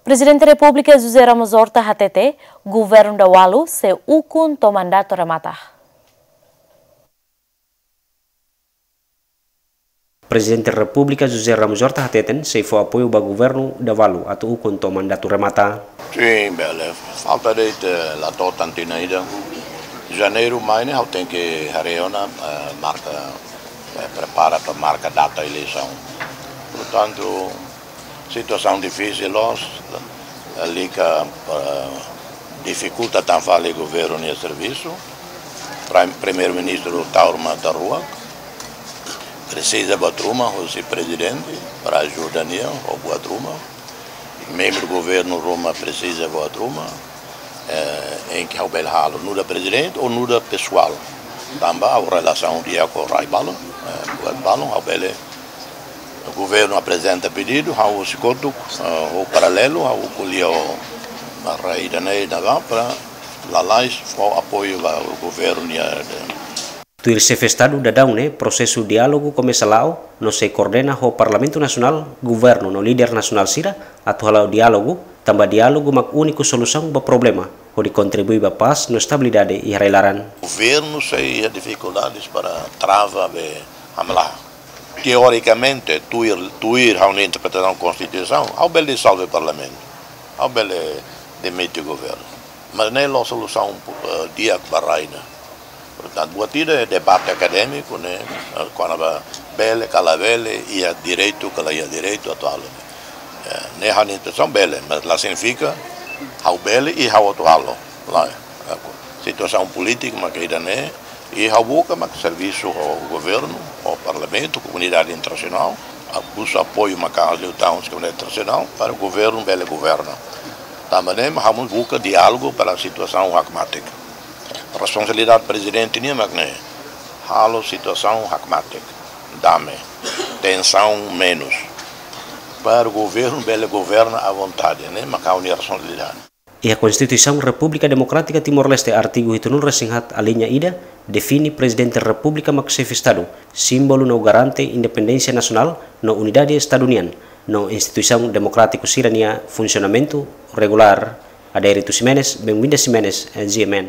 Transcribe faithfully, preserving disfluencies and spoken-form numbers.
Prezidente Repúblika José Ramos Horta hatete, governu Dawalu sei ukun to'o mandatu remata. Prezidente Repúblika José Ramos Horta hateten sei fó apoiu ba governu Dawalu atu ukun to'o mandatu remata. Sin, bele. Falta de'it, eh, la to'o tan tinan ida. Janeiru mai ne'e ha'u tenke haree ona, eh, marka, eh, prepara para marka data eleisaun. Portantu, situasaun difisil loos, eh, lika, eh, difikulta tan fali governu nia servisu. Prim-, Primeiru-Ministru Taur Matan Ruak presiza buat ruma husi prezidente para ajuda nia ho buat ruma. Membru governu ruma presiza buat ruma, eh, em que ha'u bele halo, nu'udar prezidente ou nu'udar pesoál. Tanba ha'u relasaun di'ak ho rai balun, eh, buat balun, ha'u bele, governu aprezenta pedidu, ha'u husi kotuk, eh, ho paralelu, ha'u ko'alia ho rai ida-ne'e ida ba para lalais fó apoiu ba governu nia, eh, Tuir Xefe Estadu daudaun ne'e, prosesu diálogu komesa la'o, no sei koordena ho Parlamentu Nasionál, governu no líder nasionál sira, atu hala'o diálogu, tanba diálogu mak úniku solusaun ba problema, hodi kontribui ba pás no estabilidade iha rai-laran. Governu sei iha difikuldades para trava be hamlaha. Teorikamente, tuir, tuir ha'u-nia interpretasaun konstituisaun, ha'u bele disolve parlamentu, ha'u bele demite governu. Mas ne'e la'ós solusaun, eh, di'ak ba rai ne'e. Portantu, buat ida debate akadémiku ne'e, eh, kona-ba bele ka la bele, iha direitu ka la iha direitu atu halo. Eh, ne'e ha'u-nia intensaun bele, mas la signifika ha'u bele i ha'u atu halo. Lae, eh, situasaun polítika mak ida-ne'e, i ha'u buka mak servisu ho governu, ho parlamentu, komunidade internasionál, ha'u buka apoiu maka'as liután husi komunidade internasionál, para governu bele governa. Tanba ne'e mak ha'u buka diálogu para situasaun hakmatek. Responsabilidade prezidente nian mak ne'e, halo situasaun hakmatek, dame, tensaun menus. Para governu bele governa à vontade, ne'e mak ha'u-nia responsabilidade. Iha Konstituisaun Repúblika Demokrátika Timor-Leste, artigu hitunulu-resin-haat, aliña ida, define Prezidente Repúblika mak Xefe Estadu, símbolu no garante independénsia nasionál no unidade Estadu nian, no instituisaun demokrátiku sira-nia funsionamentu regulár. Adérito Ximenes, Benguinda Ximenes, G M N.